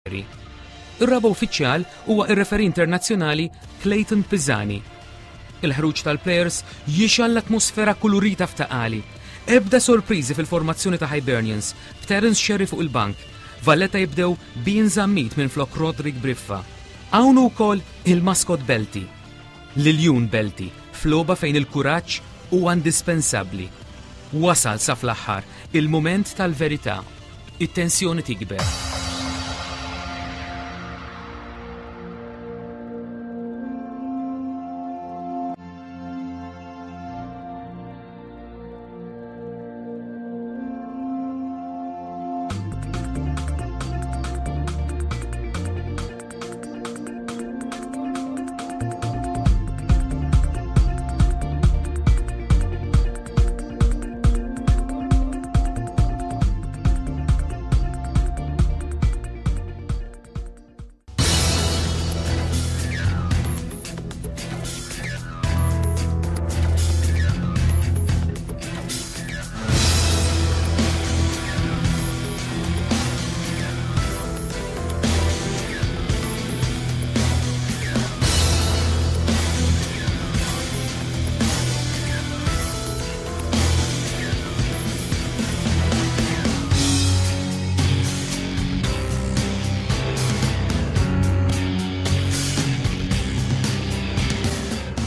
Ir-raba' uffiċjal huwa r-referee internazzjonali Clayton Pisani. Il-ħruġ tal-plejers jixgħal l-atmosfera kulurita f'Ta' Qali. Ebda sorpriżi fil-formazzjoni ta' Hibernians, b'Terence Scerri fuq il-bank. Valletta jibdew b'Ian Zammit minflok Roderick Briffa. Hawn hu wkoll il-maskot Belti. L-iljun Belti, f'logħba fejn il-kuraġġ huwa indispensabbli. Wasal sa fl-aħħar il-mument tal-verità. It-tensjoni tikber.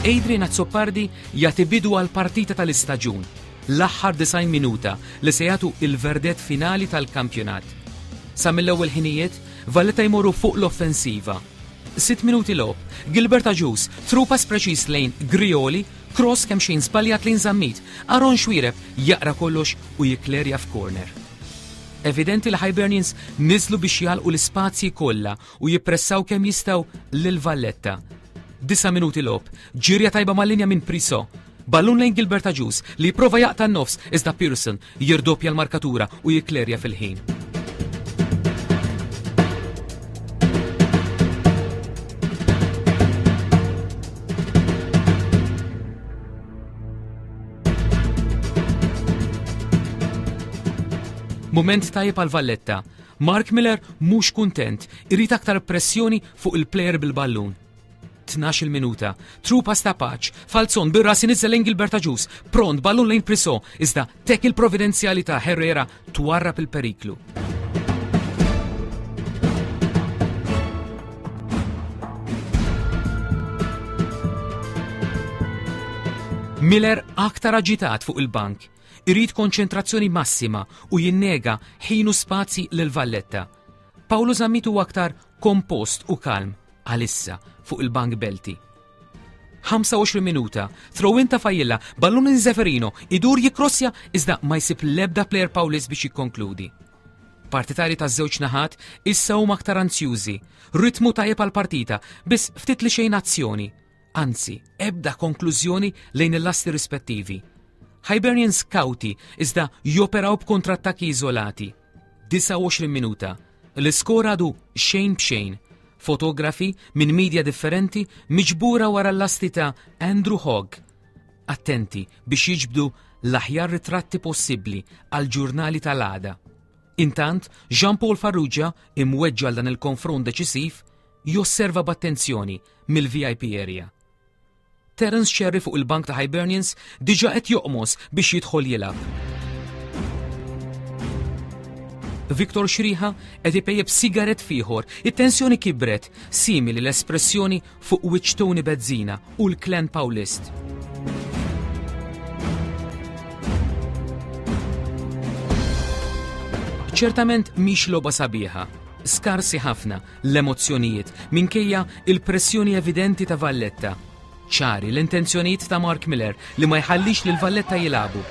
Adrian Azzopardi jagħti bidu għal partita tal-istaġun, l-aħħar 90 minuta li se jagħtu il-verdett finali tal-kampjonat. Sa mill-ewwel ħinijiet, Valletta jmorru fuq l-offensiva. Sitt minuti logħob, Gilbert Agius, through pass preċiż lejn Grioli, cross kemxejn żbaljat lejn Zammit, Aaron Xuereb jaqra kollox u jikklerja f'corner. Evidenti li Hibernians niżlu biex jagħlqu l-ispazji kollha u jippressaw kemm jistgħu lil Valletta. Disa' minuti logħob, ġirja tajba mal-linja minn Priso. Ballun lejn Gilbert Agius li jipprova jaqta' n-nofs iżda Pearson jirdoppja l-markatura u jikklerja fil-ħin. Mument tajjeb għal Valletta. Mark Miller mhux kuntent, irid aktar pressjoni fuq il-plejer bil-ballun. 12-il minuta. True pass ta' Paċ. Falzon bir-ras inizzel lejn Gilbert Agius. Pront ballun lejn Priso. Iżda tackle providenzjali ta' Herrera twarrab il-periklu. Miller aktar aġitat fuq il-bank. Irid konċentrazzjoni massima u jinnega ħin u spazji lil Valletta. Paolo Zammit huwa aktar kompost u kalm għalissa fuq il-bank Belti. 25 minuta, throw-in ta' Fajilla, ballun in Zeferino, idur jikrossja iżda ma jsib l-ebda player Paulis biex jikkonkludi. Partitari ta' żewġ naħat issa huma aktar anzjużi, ritmu tajjeb għal partita, biss ftit li xejn azzjoni. Anzi, ebda konklużjoni lejn il-lasti rispettivi. Hibernians kawti iżda joperaw b'kontrattakki iżolati. 29 minuta, L-iskor għadu xejn b'xejn. Fotografi minn media differenti miġbura wara l-lasti ta' Andrew Hogg. Attenti biex jiġbdu l-aħjar ritratti possibbli għall-ġurnali tal-għada. Intant, Jean Paul Farrugia, imweġġa' għal dan il-konfront deċisiv, josserva b'attenzjoni mill-VIP area. Terence Scerri fuq il-bank ta' Hibernians diġà qed joqmos biex jidħol jilgħab. Victor Xriħa qed ipejjeb sigaret fieħor, it-tensjoni kibret, simili l-espressjoni fuq wiċċ Tony Bezzina u l-klan Paulist. Ċertament mhix logħba sabiħa, skarsi ħafna l-emozzjonijiet minkejja il-pressjoni evidenti ta' Valletta. Ċari l-intenzjonijiet ta' Mark Miller li ma jħallix lil Valletta jilagħbu.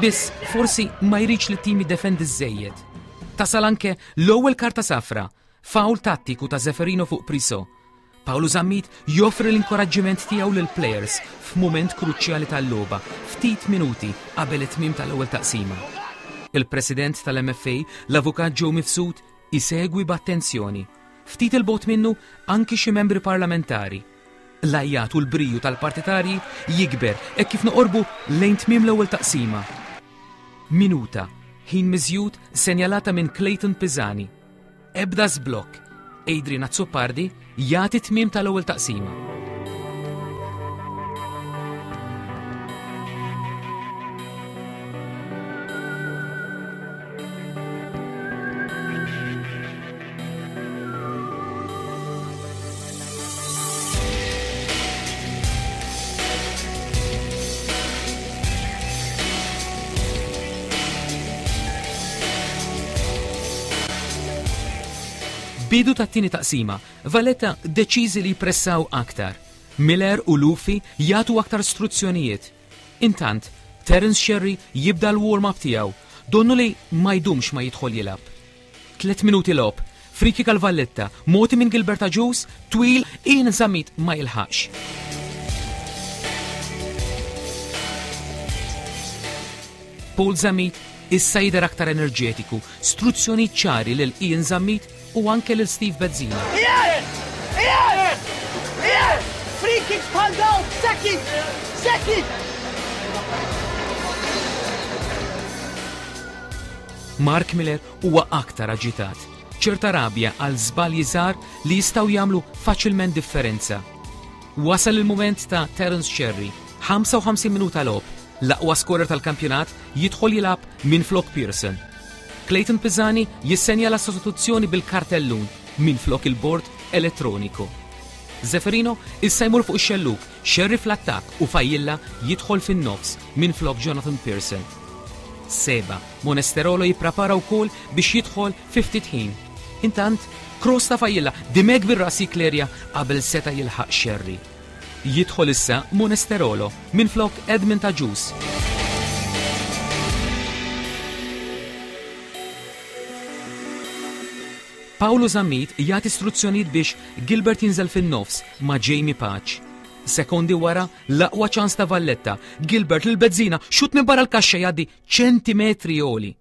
Biss forsi ma jridx li t-tim jiddefendi żejjed. Tasal anke l-ewwel karta safra, fawl tattiku ta' Zeferino fuq Priso. Paolo Zammit joffri l-inkoraġġiment tiegħu lill-plejers f'mument kruċjali tal-logħba, ftit minuti qabel it-tmiem tal-ewwel taqsima. Il-President tal-MFA, l-Avukat Joe Mifsud, Isegwi b'attenzjoni. Ftit 'il bogħod minnu anki xi membri parlamentari. L-għajjat u l-briju tal-partitarji jikber hekk kif noqorbu lejn tmiem l-ewwel taqsima. Minuta, ħin miżjud senjalata minn Clayton Pisani. Ebda żblokk. Adrian Azzopardi jagħti tmiem tal-ewwel taqsima. Bidu tat-tieni taqsima, Valletta deċiżi li jpressaw aktar. Miller u Lufi jagħtu aktar struzzjonijiet. Intant, Terence Scerri jibda l-warm-up tiegħu, donnu li ma jdumx ma jidħol jilgħab. Tlet minuti logħob, free kick għal Valletta, mogħti minn Gilbert Agius, twil, Ian Zammit ma jilħaqx. Paul Zammit issa jidher aktar enerġetiku, struzzjonijiet ċari lil Ian Zammit u anke lil Steve Bezzina. Ian! Ian! Ian! Free kicks bħal dawn, second! Second! Mark Miller huwa aktar aġitat, ċerta rabja għal żbalji żgħar li jistgħu jagħmlu faċilment differenza. Wasal il-mument ta' Terence Scerri, 55 minuta logħob, l-aqwa skorer tal-kampjonat jidħol jilgħab minflok Pearson. Clayton Pisani jissenjala sostituzzjoni bil-kartellun minflok il-bord elettroniku. Zeferino issa jmur fuq ix-xellug, Scerri fl-attakk u Fajilla jidħol fin-nofs minflok Jonathan Pearson. Seba, Monesterolo jipprepara wkoll biex jidħol fi ftit ħin. Intant, cross ta' Fajilla, Dimech bir-ras jikklerja qabel seta' jilħaq Scerri. Jidħol issa Monesterolo minflok Edmund Agius. Paolo Zammit jagħti struzzjonijiet biex Gilbert jinżel fin-nofs ma' Jamie Pace. Sekondi wara, l-aqwa ċans ta' Valletta, Gilbert lil Bezzina, xut minn barra l-kaxxa jgħaddi ċentimetri għoli.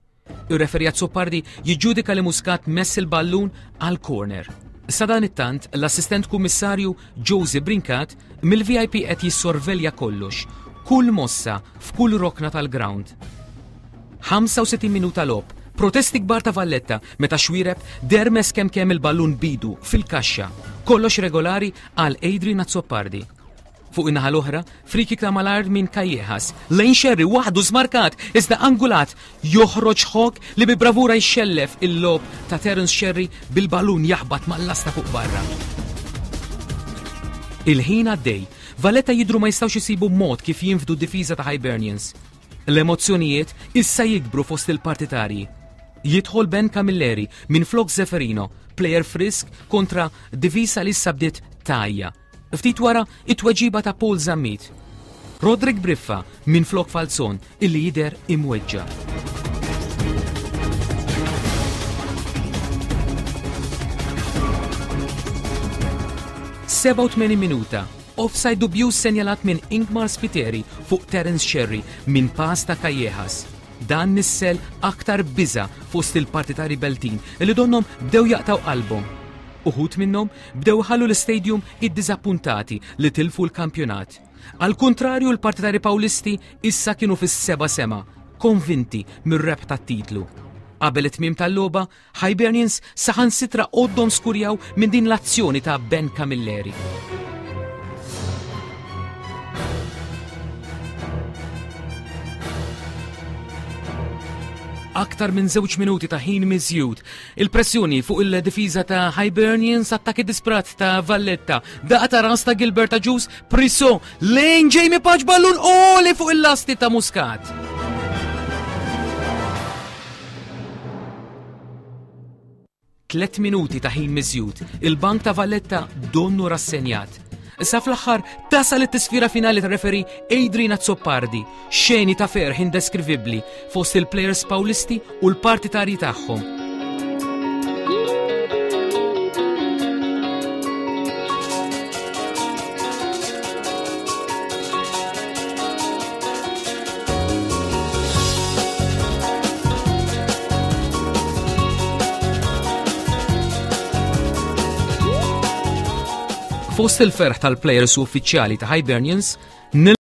Ir-referee Azzopardi jiġġudika li Muscat mess il-ballun għal corner. Sadanittant, l-assistent kummissarju Josie Brincat mill-VIP qed jissorvelja kollox, kull mossa f'kull rokna tal-ground. 65 minuta logħob, protesti kbar ta' Valletta meta Xuereb dermes kemm kemm il-ballun bidu fil-kaxxa. Kollox regolari għal Adrian Azzopardi. Fuq in-naħa l-oħra, free kick ta' malajr minn Callejas, lejn Scerri waħdu żmarkat iżda angulat joħroġ Hogg li bi bravura jxellef il-logħob ta' Terence Scerri bil-ballun jaħbat mal-lasta fuq barra. Il-ħin għaddej, Valletta jidhru ma jistgħux isibu mod kif jinfdu d-difiża ta' Hibernians. L-emozzjonijiet issa jikbru fost il-partitarji. Jidħol Ben Camilleri minflok Zeferino, plejer frisk kontra difiża li issa bdiet tgħajja. Ftit wara, it-tweġiba ta' Paul Zammit. Roderick Briffa minflok Falzon illi jidher imweġġa'. 87 minuta, offside dubjuż senjalat minn Ingmar Spiteri fuq Terence Scerri minn pass ta' Callejas. Dan nissel aktar biża' fost il-partitari Beltin li donnhom bdew jaqtgħu qalbhom. Uħud minnhom bdew iħallu l-istadium iddiżappuntati li tilfu l-kampjonat. Għall-kuntrarju l-partitari Pawlisti issa kienu fis-seba' sema, konvinti mir-rebħ tat-titlu. Qabel it-tmiem tal-logħba, Hibernians saħansitra għoddhom skurjaw minn din l-azzjoni ta' Ben Camilleri. Aktar minn żewġ minuti ta' ħin miżjud. Il-pressjoni fuq il-difiża ta' Hibernians, attakki disprat ta' Valletta, daqqa ta' ras ta' Gilbert Agius, Priso lejn Jamie Pace ballun għoli fuq il-lasti ta' Muscat. Tlet minuti ta' ħin miżjud, il-bank ta' Valletta donnu rassenjat. Sa fl-aħħar tasal it-tisfira finali ta' referi Adrian Azzopardi, xeni ta' ferħ indeskrivibbli fost il-plejers Pawlisti u l-partitarji tagħhom. Fost il-ferħ tal-plejers u uffiċjali ta' Hibernians,